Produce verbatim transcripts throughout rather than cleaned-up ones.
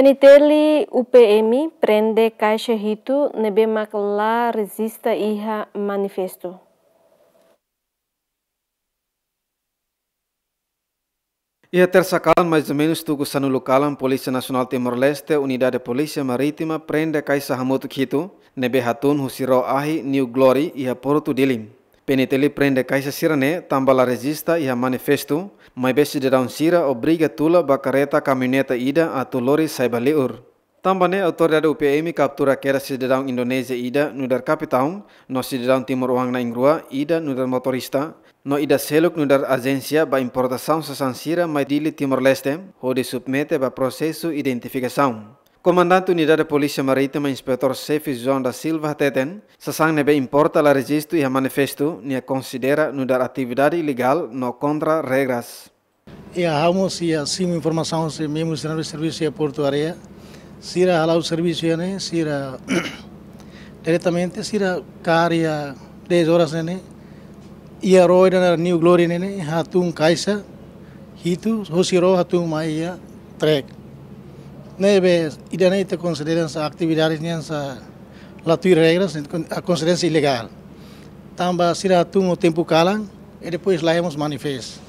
PNTL UPM prende kaixa hitu ne'ebé mak la rejista iha manifestu. Iha tersa kalan, mais ou menus tuku sanulu kalan, Polísia Nasionál Timor-Leste, Unidade Polísia Marítima, prende kaixa hamutuk hitu ne'ebé hatún husi ró ahi New Glory iha Portu Dili. PNTL prende kaixa sira-ne'e tanba la rejista iha manifestu, maibé sidadaun sira obriga tula ba karreta kamioneta ida atu lori sai ba liur. Tanba ne'e, autoridade UPM kaptura kedas sidadaun Indonézia ida nu'udar kapitaun, no sidadaun timoroan na'in-rua ida nu'udar motorista, no ida seluk nu'udar ajénsia ba importasaun sasán sira mai Dili, Timor-Leste, hodi submete ba prosesu identifikasaun. Komandante Unidade Polísia Marítima, Inspetór Xefe João da Silva hateten, sasán ne'ebé importa la rejistu iha manifestu, nia konsidera nu'udar atividade ilegál no kontra regras. Iha ha'u mós iha simu informasaun husi membru sira ne'ebé servisu iha Portu Área. Sira hala'o servisu iha ne'e, sira diretamente, sira kaer iha dez horas ne'e ne'e. Iha ró ida nu'udar New Glory ne'e ne'e, hatún kaixa hitu, husi ró hatún mai iha trek. Ne'ebé ida-ne'e ita konsidera hanesan atividade nian sá la tuir regras, a konsidera ilegál. Tanba sira hatún ho tempu kalan, i depois la hemos manifest.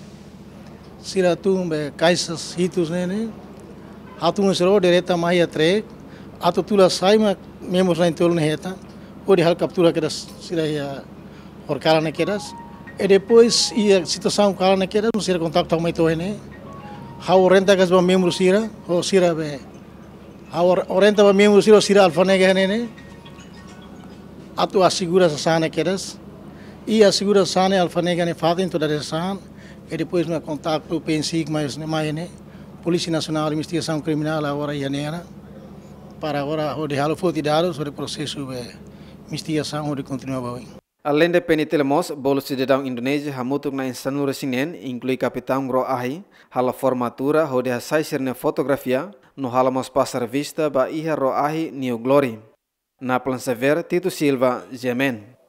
Sira hatún be kaixa hitu ne'e ne'e, hatún husi ró direta mai iha trek, atu tula sai mak membru na'in-tolu ne'e hetan, hodi halo kaptura kedas sira iha horikalan ne'e kedas. I depois iha situasaun kalan ne'e kedas, sira kontaktu mai to'o ne'e. Ha'u orienta kedas ba membru sira, ho sira be. Ha'u or-, orienta ba membru sira, sira alfanega ne'e ne'e. Atu asegura sasán ne'e kedas. I asegura sasán ne'e alfanega ne'e fatin to'o dadeer-saan. I depois mak kontaktu PNSIC mai ne'e, mai ne'e. Polísia Nasionál Investigasaun Kriminál agora iha ne'e ona. Para agora hodi halo foti dadus, hodi prosesu be investigasaun hodi kontinua ba oin. Aleinde PNTL mós, bolu sidadaun Indonézia hamutuk na'in-sanulu resin neen, inklui kapitaun ró ahi, halo formatura hodi hasai sira-nia fotografia, no halo mós pasa revista ba iha ró ahi New Glory. Naplan Xavier, Tito Silva, GMN.